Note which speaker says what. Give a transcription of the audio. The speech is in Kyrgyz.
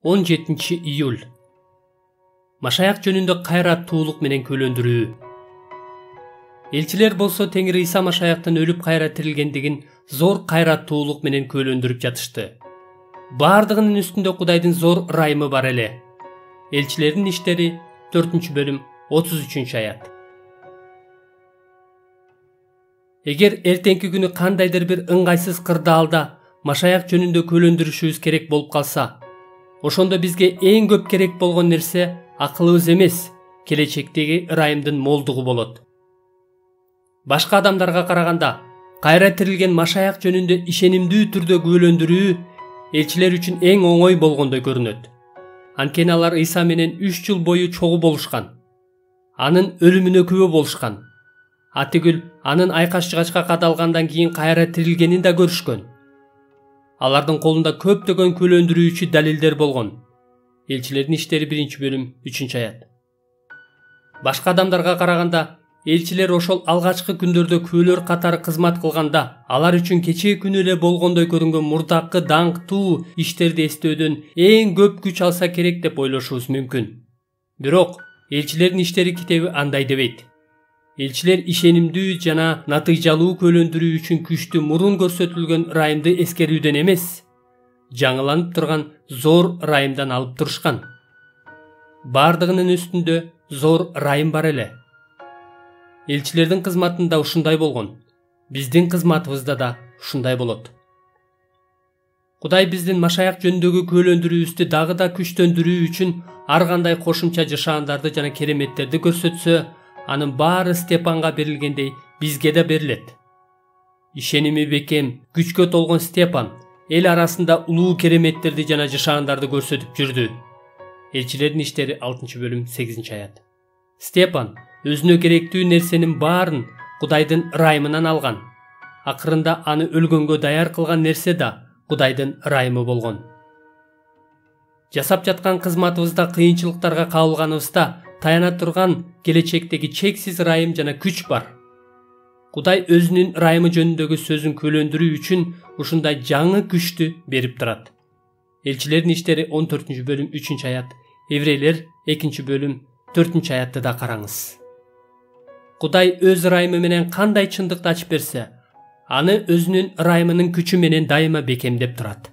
Speaker 1: 17-июль. Машаяк жөнүндө кайраттуулук менен күлөндүрүү. Элчилер болсо Теңир Иса Машаяктын өлүп кайра тирилгендигин зор кайраттуулук менен күлөндүрүп жатышты. Бардыгынын үстүндө Кудайдын зор ырайымы бар эле. Элчилердин иштери 4-бөлүм 33-аят. Эгер эртеңки күнү кандайдыр бир ыңгайсыз кырдаалда Машаяк жөнүндө күлөндүрүшүбүз керек болуп калса, ошондо бизге эң көп керек болгон нерсе акылыбыз эмес, келечектеги ырайымдын молдугу болот. Башка адамдарга караганда кайра тирилген Машаяк жөнүндө ишенимдүү түрдө күлөндүрүү элчилер үчүн эң оңой болгондой көрүнөт. Анткени алар Иса менен 3 жыл бою чогуу болушкан. Анын өлүмүнө күбө болушкан. Атүгүл анын айкаш-жыгачка кадалгандан кийин кайра тирилгенин да көрүшкөн. Алардын колунда көптөгөн күлөндүрүүчү далилдер болгон. Элчилердин иштери 1-бөлүм 3-аят. Башка адамдарга караганда элчилер ошол алгачкы күндөрдө күбөлөр катары кызмат кылганда, алар үчүн кечээ күнү эле болгондой көрүнгөн мурдакы даңктуу иштерди эстөөдөн эң көп күч алса керек деп ойлошубуз мүмкүн. Бирок элчилердин иштери китеби андай дебейт. Элчилер ишенимдүү жана натыйжалуу күлөндүрүү үчүн күчтү мурун көрсөтүлгөн ырайымды эскерүүдөн эмес, жаңыланып турган зор ырайымдан алып турушкан. Бардыгынын үстүндө зор ырайым бар эле. Элчилердин кызматында ушундай болгон. Биздин кызматыбызда да ушундай болот. Кудай биздин Машаяк жөнүндөгү күлөндүрүүбүздү дагы да күчтөндүрүү үчүн ар кандай кошумча жашаандарды жана кереметтерди көрсөтсө, анын баары Степанга берилгендей бизге да берилет. Ишеними бекем, күчкө толгон Степан эл арасында улуу кереметтерди жана жашаандарды көрсөтүп жүрдү. Элчилердин иштери 6-бөлүм 8-аят. Степан өзүнө керектүү нерсенин баарын Кудайдын ырайымынан алган. Акырында аны өлгөнгө даяр кылган нерсе да Кудайдын ырайымы болгон. Жасап жаткан кызматыбызда кыйынчылыктарга кабылганыбызда таяна турган келечектеги чексиз ырайым жана күч бар. Кудай өзүнүн ырайымы жөнүндөгү сөзүн күлөндүрүү үчүн ушундай жаңы күчтү берип турат. Элчилердин иштери 14-бөлүм 3-аят, Еврейлер 2-бөлүм 4-аятты да караңыз. Кудай өз ырайымы менен кандай чындыкты ачып берсе, аны өзүнүн ырайымынын күчү менен дайыма бекемдеп турат.